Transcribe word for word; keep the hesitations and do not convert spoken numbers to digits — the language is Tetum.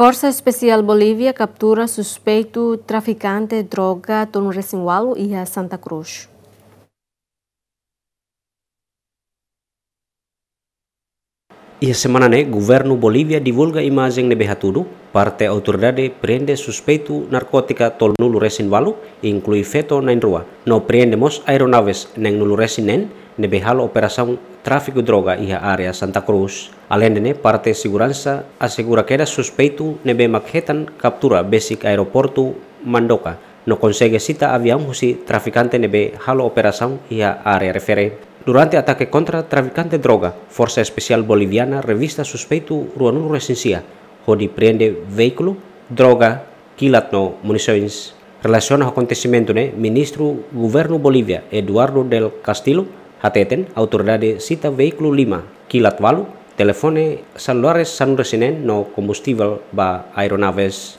Forsa Espesiál Bolívia kaptura suspeitu trafikante droga tolunulu-resin-ualu iha Santa Cruz. Iha semana ne'e, governu Bolívia divulga imajen ne'ebé hatudu parte autoridade prende suspeitu narkótika tolunulu-resin-ualu, inklui feto na'in-rua, no prende mós aeronaves neen-nulu-resin-neen ne'ebé halo operasaun tráfiku droga iha área Santa Cruz. Aleinde ne'e, parte seguransa asegura kedas suspeitu ne'ebé mak hetan kaptura besik aeroportu Mandoka, no konsege sita aviaun husi trafikante ne'ebé halo operasaun iha área refere. Durante atake kontra trafikante droga, Forsa Espesiál Boliviana revista suspeitu ruanulu-resin-sia, hodi prende veíkulu, droga, kilat no munisoens. Relasiona ho akontesimentu ne'e, Ministru Governu Bolívia, Eduardo del Castillo, hateten autoridade sita veíkulu lima, kilat ualu, telefone selulares sanulu-resin-neen no kombustivel ba aeronaves.